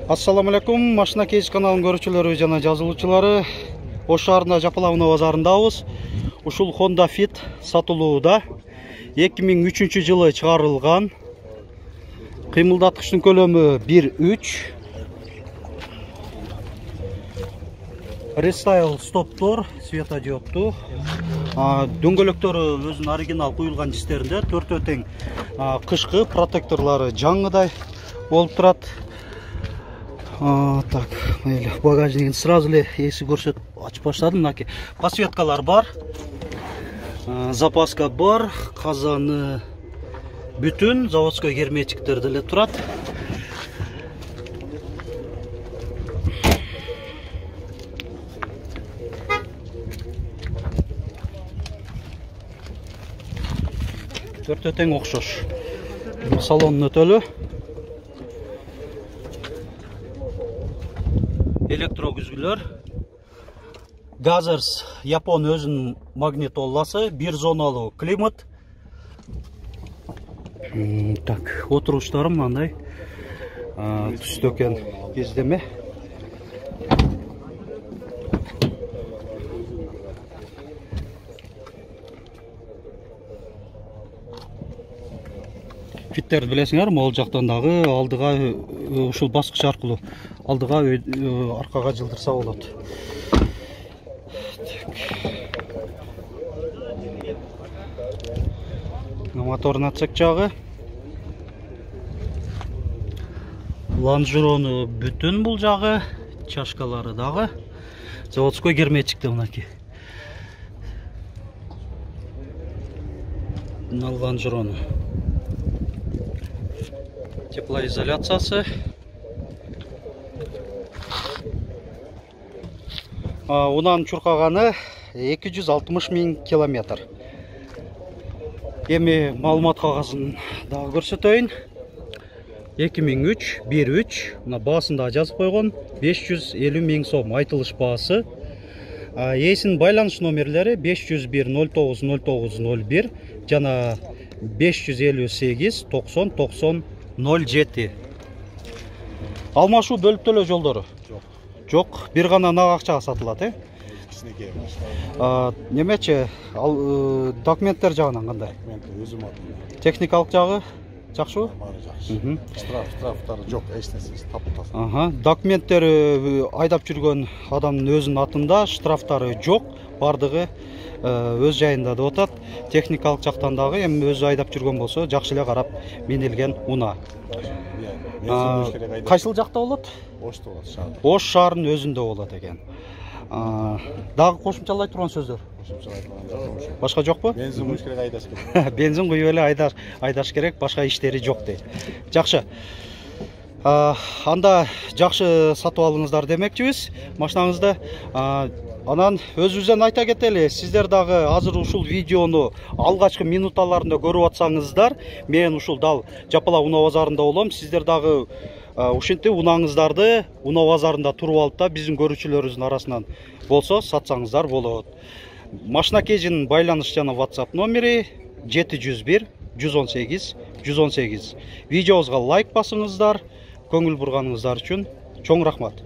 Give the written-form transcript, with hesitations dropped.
Ассаламу алейкум, Машина Кейс каналынын көрүүчүлөрү жана жазылуучулары. Ош шаарында Жапала Унаа базарындабыз. Ушул Honda Fit сатылууда. 2003 жылы чыгарылган. Кыймылдаткычтын көлөмү 1.3. Restyle стоптор, светодиопту. Дөңгөлөктөрү өзүнүн оригинал куюлган жистеринде, төртөө тең кышкы протекторлору жаңыдай болуп турат. Так, багажнигин сразу эле эси көрсөтүп ачып баштадым. Мынакей подсветкалар бар. Запаска бар, казаны бүтүн, заводской герметиктер деле турат. Төртөө тең окшош. Салонун өтөлү. Электрогүзгүлөр. Газерс Япон өзүнүн магнитоласы, бир зоналуу климат. Так, отуруштары мындай түстө экен, кездеме. Фиттерди билесиңер, могул жактан дагы алдыга ушул баскыч аркылуу алдыга аркага жылдырса болот. Моторун ачсак жагы. Лонжерону бүтүн бул жагы, чашкалары дагы. Заводской герметикте мынакей. Мына лонжерону. Теплоизоляциясы. Унан чуркаганы 260 000 километр. Эми маалымат кагазын дагы көрсөтөйүн. 2003 1.3, мына баасын да жазып койгон, 550 000 сом айтылыш баасы. Эсинин байланыш номерлери 501 09 09 01 жана 558 90 90 07. Алмашуу бөлүп төлөө жолдору? Жок, бир гана нак акчага сатылат, Немечи, документтер жагынан кандай? Өзүм атым. Техникалык жагы жакшыбы? Баары жакшы. Штрафтары жок, эч нерсеси таптасың. Документтери айдап жүргөн адамдын өзүнүн атында, штрафтары жок, бардыгы өз жайында деп атат. Техникалык жактан дагы эми өзү айдап жүргөн болсо, жакшы эле карап минилген унаа. Кайсыл жакта болот? Ошто болот, шаар. Ош шаарынын өзүндө болот экен. Дагы кошумчалай турган сөздөр? Кошумчалай турган жок. Башка жокпу? Бензин куюш керек, айдаш керек. Бензин куюп эле айдаш керек, башка иштери жок дейт. Жакшы. Анда жакшы сатып алыңыздар демекчибиз машинаңызды. Анан өзүбүздөн айта кетели, сиздер дагы азыр ушул видеону алгачкы минуталарында көрүп атсаңыздар, мен ушул дал Жапала Унаа базарында болом. Сиздер дагы ушинтип унааңыздарды Унаа базарында туруп алып да биздин көрүүчүлөрүбүздүн арасынан болсо сатсаңыздар болот. Машина Кейжинин байланыш жана WhatsApp номери 701 118 118. Видеобузга лайк басыңыздар. Көңүл бурганыңыздар үчүн чоң рахмат.